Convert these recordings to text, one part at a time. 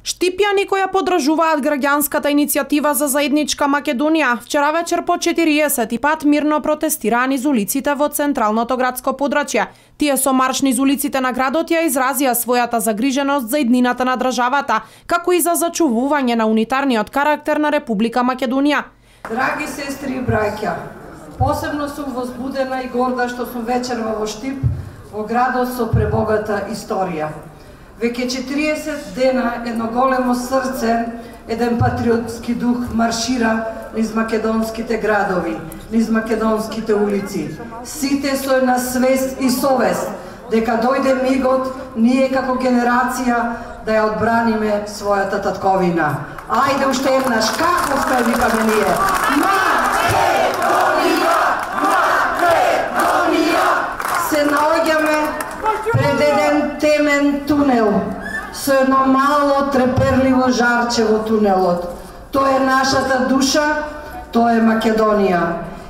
Штипјани кои ја поддржуваат граѓанската иницијатива за заедничка Македонија, вчера вечер по 40 пат мирно протестираа низ улиците во централното градско подрачје. Тие со марш низ улиците на градот ја изразија својата загриженост за иднината на државата, како и за зачувување на унитарниот карактер на Република Македонија. Драги сестри и браќа, посебно сум возбудена и горда што сум вечерва во Штип, во градот со пребогата историја. Веќе 40 дена едно големо срце, еден патриотски дух маршира низ македонските градови, низ македонските улици. Сите со една свест и совест дека дојде мигот ние како генерација да ја одбраниме својата татковина. Ајде уште еднаш, како сме викаме ние? Македонија! Македонија! Се наоѓаме пред еден темен тунел, со едно мало треперливо жарче во тунелот. Тоа е нашата душа, тоа е Македонија.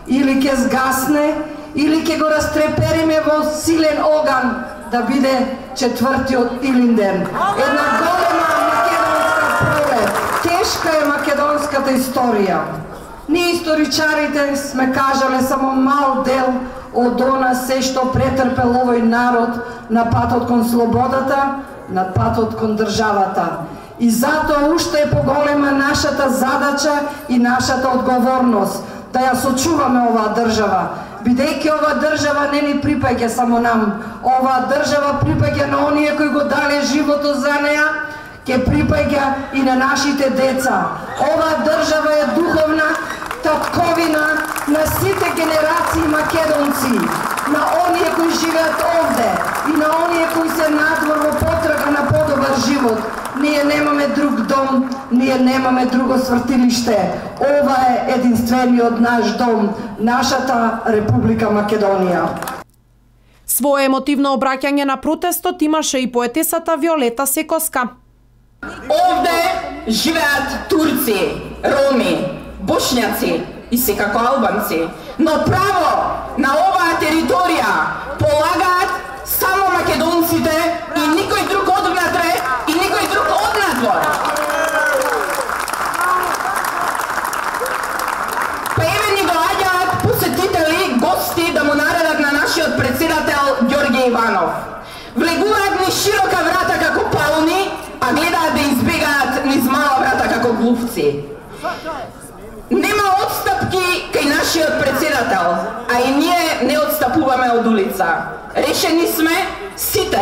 Или ќе згасне, или ќе го растрепериме во силен оган да биде четвртиот Илинден. Една голема македонска пролет. Тешка е македонската историја. Ние историчарите сме кажале само мал дел од она се што претрпел овој народ на патот кон слободата, на патот кон државата. И затоа уште е поголема нашата задача и нашата одговорност да ја сочуваме оваа држава, бидејќи оваа држава не ни припаѓа само нам. Оваа држава припаѓа на оние кои го дале животот за неа, ќе припаѓа и на нашите деца. Оваа држава е духовна татковина на сите генерации македонци, на оние кои живеат овде и на оние кои се надвор во потрага на подобар живот. Ние немаме друг дом, ние немаме друго свртилиште. Ова е единствениот наш дом, нашата Република Македонија. Своје емотивно обраќање на протестот имаше и поетесата Виолета Секоска. Овде живеат турци, роми, бошњаци и секако албанци, но право на оваа територија полагаат само македонците и никој друг одвнатре и никој друг однадвор. Па еве ни доаѓаат посетители, гости да му наредат на нашиот председател Ѓорѓе Иванов. Влегуваат низ широка врата како пауни, а гледаат да избегаат низ мала врата како глувци. Нема отстапки кај нашиот председател, а и ние не отстапуваме од улица. Решени сме сите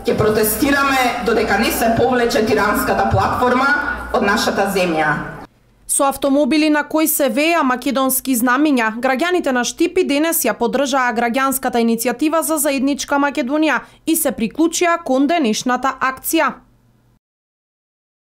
ќе протестираме додека не се повлече тиранската платформа од нашата земја. Со автомобили на кои се веа македонски знамиња, граѓаните на Штип и денес ја поддржаа граѓанската иницијатива за заедничка Македонија и се приклучија кон денешната акција.